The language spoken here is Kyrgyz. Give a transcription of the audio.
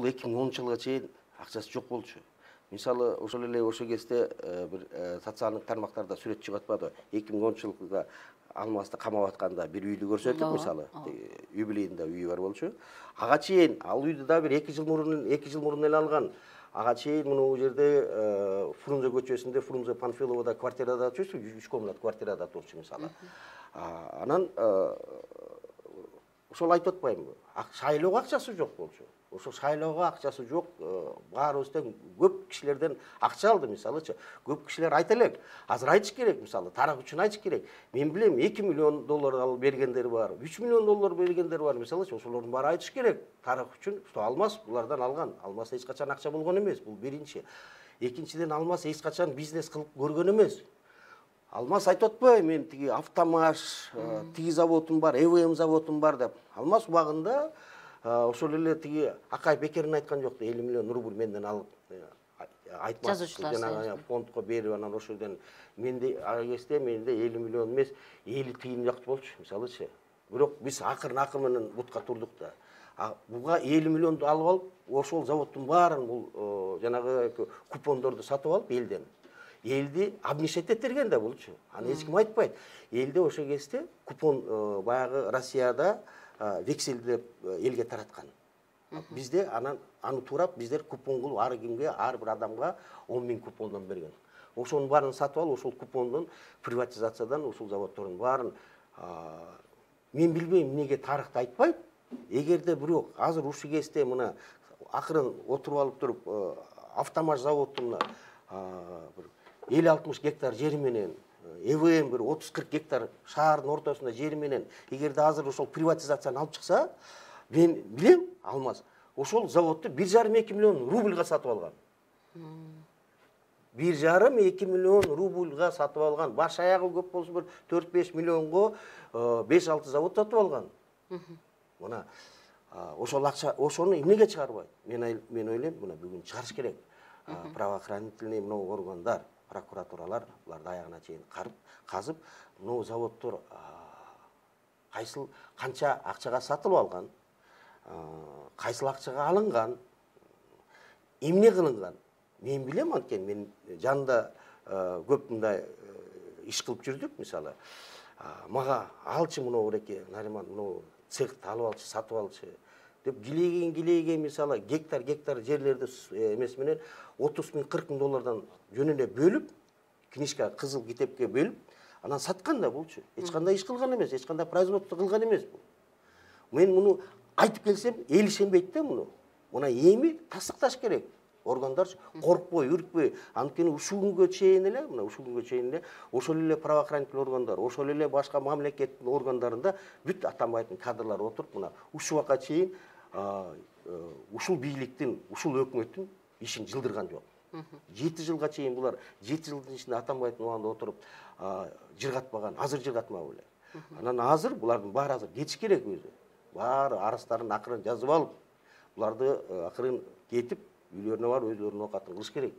бул 2010 жылга чейин акчасы жок болчу. Мисалы, ошол эле ошол кезде бир социалдык тармактарда сүрөт чыгып атпады. 2010 жылга Алмазды камап атканда бир үйдү көрсөттүк, мисалы, юбилейинде үйү бар болчу. Ага чейин ал үйдү да бир 2 жыл мурун эле алган. Ага чейин мына жерде Фрунзе көчөсүндө, Фрунзе Панфиловада квартирада турчу, 3 комнат квартирада турчу, мисалы. Анан ошол айтып атпаймынбы? Шайлоого акчасы жок болчу. Ошо шайлоого акчасы жок, баарыбыздан көп кишилерден акча алды, мисалычы. Көп кишилер айта элек. Азыр айтыш керек, мисалы, тарак үчүн айтыш керек. Мен билем, 2 миллион доллар алып бергендер бар, 3 миллион доллар бергендер бар, мисалычы. Ошолордун баары айтыш керек. Тарак үчүн, что Алмаз булардан алган. Алмаз эч качан акча болгон эмес, бул биринчи. Экинчиден, Алмаз эч качан бизнес кылып көргөн эмес. Алмаз айтып атпай, мен тиги Автомаш, тиги заводум бар, ЭВМ заводум бар деп. Алмаз убагында ошол эле тиги Акай Бекерин айткан жокто, 50 миллион рубль менден алып айтмас, жанагы фондко берип, анан ошол жерден менде ага кезде менде 50 миллион эмес, 50 тыйын жакчы болчу, мисалычы. Бирок биз акыр менен бутка турдук да. Буга 50 миллионду алып алып, ошол заводдун баарын бул жанагы купондорду сатып алып элден. Элди обнишет эттерген да булчу. Аны эч ким айтпайт. Элде ошол кезде купон баягы Россияда вексельдеп элге тараткан. Бизде аны турап биздер купон кылып ар кимге, ар бир адамга 10 000 купондон берген. Ошонун баарын сатып алып, ошол купондон приватизациядан ошол заводдордун баарын мен билбейм эмнеге тарыхты айтпайт. Эгерде бирок азыр ушул кезде мына акырын отуруп алып туруп Автомаш заводунун бир 50-60 гектар жери менен ЭВМ бир 30-40 гектар шаардын ортосунда жери менен эгерде азыр ошол приватизацияны алып чыкса, мен билем, Алмаз ошол заводду 1,5-2 миллион рубльга сатып алган. 1,5-2 миллион рубльга сатып алган. Баш аягы көп болсо бир 4-5 миллионго 5-6 завод сатып алган. Мына ошол акча, ошону эмнеге чыгарбайт? Мен ойлойм, мына бүгүн чыгарыш керек. Правоохранительный мынау органдар, прокуратуралар буларды аягына чейин казып, мынау заводдор кайсыл канча акчага сатылып алган, кайсыл акчага алынган, эмне кылынган? Мен билем, анткени мен жанында көп мындай иш кылып жүрдүк, мисалы. Мага алчы мынау эреке, Нариман, мынау цехти алып алчы, сатып алчы деп килейген мисалы гектар жерлерди эмес менен 30 000, 40 000 доллардан жөнүнө бөлүп, книжка кызыл китепке бөлүп, анан саткан да булчу. Эч кандай иш кылган эмес, эч кандай производство кылган эмес бул. Мен муну айтып келсем, эл ишенбейт да муну. Мына эми тастыкташ керек. Органдар коркпой, үркпөй, анткени ушул күнгө чейин эле, ошол эле правоохранительный органдар, ошол эле башка мамлекеттин органдарында бүт атанбайтын кадрлар отуруп, мына ушул убакка чейин ушул бийликтин, ушул өкмөттүн ишин жылдырган жок. 7 жылга чейин булар 7 жылдын ичинде атанбайтын убагында отуруп жыргатпаган, азыр жыргатмабы эле. Анан азыр булардын баары азыр кетиш керек өзү. Баары арыздарын акырын жазып алып, буларды акырын кетип үйлөрүнө барып өзлөрүнүн оокатын кылыш керек.